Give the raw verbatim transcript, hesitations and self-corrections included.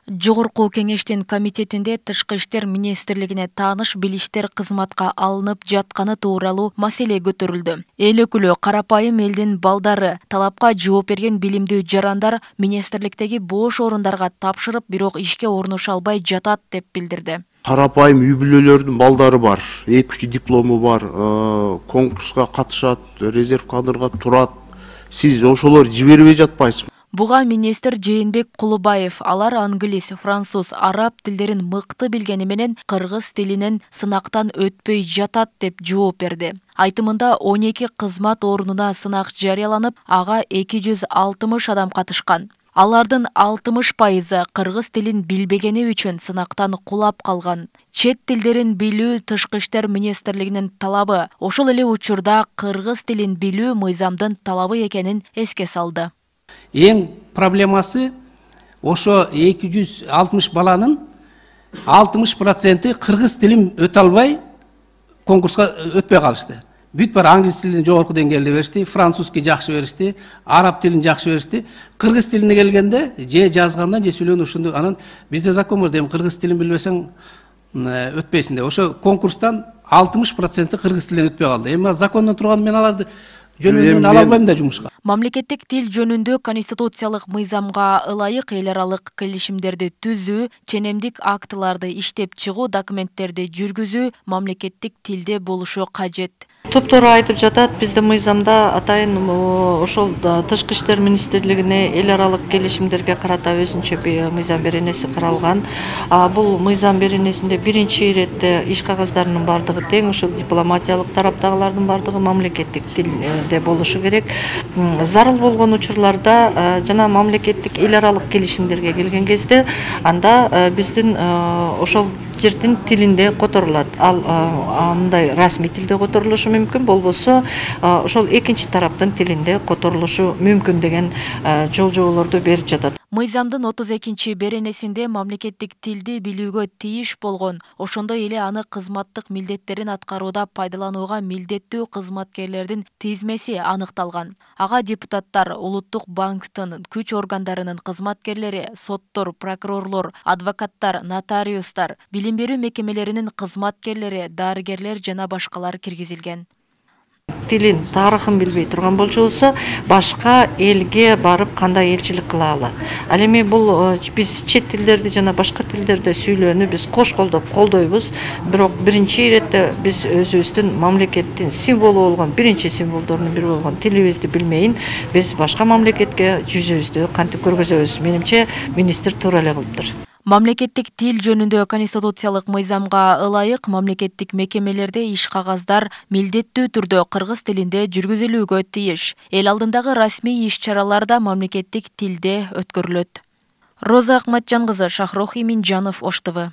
Жогорку кеңештин комитетинде Тышкы иштер министрлигине тааныш билиштер кызматка алынып жатканы тууралуу маселе көтөрүлдү. Эл өкүлү карапайым элдин балдары, талапка жооп берген билимдүү жарандар министрликтеги бош орундарга тапшырып, бирок ишке орношо албай жатат деп билдирди. Карапайым үй бүлөлөрдүн балдары бар, эки үч диплому бар, конкурска катышат, резерв кадрга турат. Сиз ошолор жибербей жатпайсызбы? Буга министр Жээнбек Кулубаев алар англис, француз, араб тилдерин мыкты билгени менен кыргыз тилинен сынактан өтпөй жатат деп жооп берди. Айтымында он эки кызмат орнуна сынак жарыяланып, ага эки жүз алтымыш адам катышкан. Алардын алтымыш пайызы кыргыз тилин билбегени үчүн сынактан кулап калган. Чет тилдерин билүү Тышкы иштер министрлигинин талабы, ошол эле учурда кыргыз тилин билүү мыйзамдын талабы экенин эске салды. Эң проблемасы ошо эки жүз алтымыш баланын алтымыш проценти кыргыз тилин өтө албай конкурска өтпөй калышты. Бүт бар англис тилин жогорку деңгээлде беришти, французский жакшы беришти, араб тилин жакшы беришти. Кыргыз тилине келгенде же жазганда же сүйлөгөндө ушунду анан бизде закон бар дейм, кыргыз тилин билбесең өтпөйсүң деп. Ошо конкурстан алтымыш проценти кыргыз тилинен өтпөй калды. Эми закондон турган мен аларды жөнүндө ала албайм да жумушка. Мамлекеттик тил жөнүндө конституциялык мыйзамга ылайык эл аралык келишимдерди түзүү, ченемдик актыларды иштеп чыгуу, документтерди жүргүзүү мамлекеттик тилде болушу кажет. Топтор айтып жатат, бизде мыйзамда атайын ошол Тышкы иштер министрлигине эл аралык келишимдерге карата өзүнчө мыйзам беренеси каралган. Бул мыйзам беренесинде биринчи иретте иш кагаздарынын бардыгы тең, ошол дипломатиялык тараптагылардын бардыгы мамлекеттик тилде болушу керек. Зарыл болгон учурларда жана мамлекеттик эл аралык келишимдерге келген кезде анда биздин ошол жердин тилинде которулат. Ал мындай расмий тилде которулушу мүмкүн, болбосо ошол экинчи тараптын тилинде которулушу мүмкүн деген жолжоболорду берип жатат. Мыйзамдын отуз экинчи беренесинде мамлекеттик тилди билүүгө тийиш болгон, ошондой эле аны кызматтык милдеттерин аткарууда пайдаланууга милдеттүү кызматкерлердин тизмеси аныкталган. Ага депутаттар, улуттук банктын күч органдарынын кызматкерлери, соттор, прокурорлор, адвокаттар, нотариустар, билим берүү мекемелеринин кызматкерлери, дарыгерлер жана башкалар киргизилген. Тилин, тарыхын билбей турган болчу, башка элге барып кандай элчилик кыла алат. Ал эми бул биз чет тилдерди жана башка тилдерде сүйлөөнү биз кош колдоп колдойбуз, бирок биринчи иретте биз өзүбүздүн мамлекеттин символу болгон, биринчи символдорунун бири болгон тилибизди билмейин, биз башка мамлекетке жүзүбүздү кантип көргөзөбүз? Менимче министр туура эле кылыптыр. Мамлекеттик тил жөнүндө конституциялык мыйзамга ылайык мамлекеттик мекемелерде иш кагаздар милдеттүү түрдө кыргыз тилинде жүргүзүлүүгө тийиш. Эл алдындагы расмий иш-чаралар да мамлекеттик тилде өткөрүлөт. Роза Акматжан кызы, Шахрох Иминжанов, Ош Т В.